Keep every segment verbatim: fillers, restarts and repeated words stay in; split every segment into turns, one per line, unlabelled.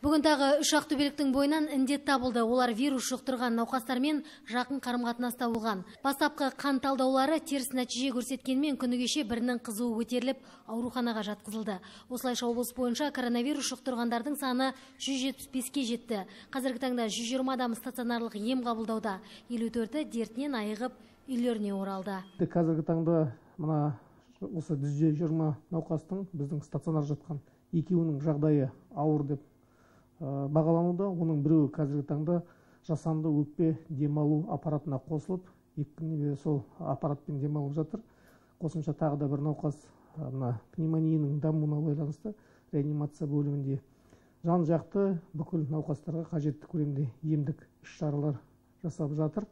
Бүгін тағы үш ақтөбеліктің бойынан індет табылды. Олар вирус жұқтырған науқастармен жақын қарым-қатынаста болған. Бастапқы қан талдаулары теріс нәтиже көрсеткенмен күні кеше бірінің қызуы көтеріліп, ауруханаға жатқызылды. Осылайша облыс бойынша коронавирус жұқтырғандардың саны жүз жетпіс беске жетті. Қазіргі таңда жүз жиырма адам стационарлық ем қабылдауда. елу төрті дертінен айығып, үйлеріне оралды.
Қазіргі таңда мына осы жүз жиырма науқастың біздің стационар жатқан екеуінің жағдайы ауыр деп бағалануда. Оның біреуі қазіргі таңда жасанды өкпе демалу аппаратына қосылып, екі сол аппаратпен демалып жатыр. Қосымша тағы да бір науқас пневмонияның дамуына байланысты реанимация бөлімінде. Жан жақты бүкіл науқастарға қажетті көлемде емдік іс-шаралар жасап жатыр.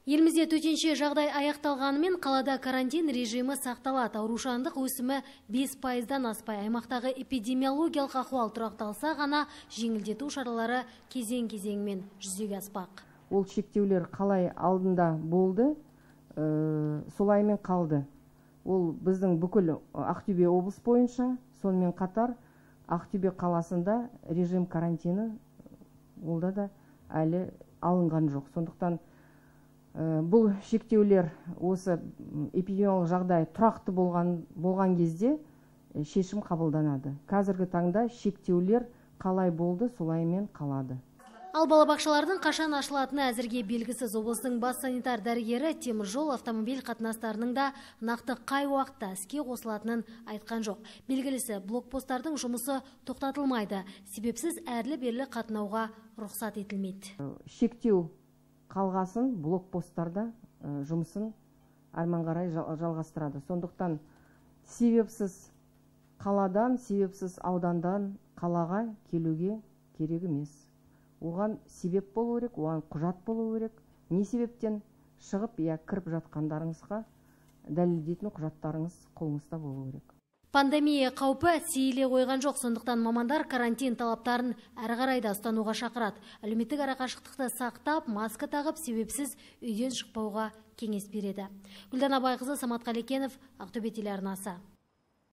Елімізде төтенше жағдай аяқталғанымен қалада карантин режимі сақталады. Аурушаңдық өсімі бес пайыздан аспай, аймақтағы эпидемиологиялық ахуал тұрақталса ғана жеңілдету шаралары кезең-кезеңмен жүзеге аспақ.
Ол шектеулер қалай алдында болды, ә, солаймен қалды. Ол біздің бүкіл Ақтөбе облыс бойынша, сонымен қатар Ақтөбе қаласында режим карантины олда да әлі алынған жоқ. Сондықтан бұл шектеулер осы эпидемиологиялық жағдай тұрақты болған, болған кезде шешім қабылданады. Қазіргі таңда шектеулер қалай болды, солаймен қалады.
Ал балабақшалардың қашан ашылатыны әзірге белгісіз. Облыстың бас санитар дәрігері теміржол автомобиль қатынастарының да нақты қай уақытта іске қосылатынын айтқан жоқ. Белгілісі, блокпосттардың жұмысы тоқтатылмайды. Себепсіз әрлі-берлі қатынауға рұқсат етілмейді.
Шектеу қалғасын блокпосттарда жұмысын әрмен қарай жалғастырады. Сондықтан себепсіз қаладан, себепсіз аудандан қалаға келуге керек емес. Оған себеп болу керек, оған құжат болу керек. Не себептен шығып, я кіріп жатқандарыңызға дәлелдейтін құжаттарыңыз қолыңызда болу керек.
Пандемия қаупі сейіле қойған жоқ, сондықтан мамандар карантин талаптарын әрі қарай да ұстануға шақырады. Әлеуметтік арақашықтықты сақтап, маска тағып, себепсіз үйден шықпауға кеңес береді. Гүлдана Байқызы, Самат Қалекенов, Ақтөбе телеарнасы.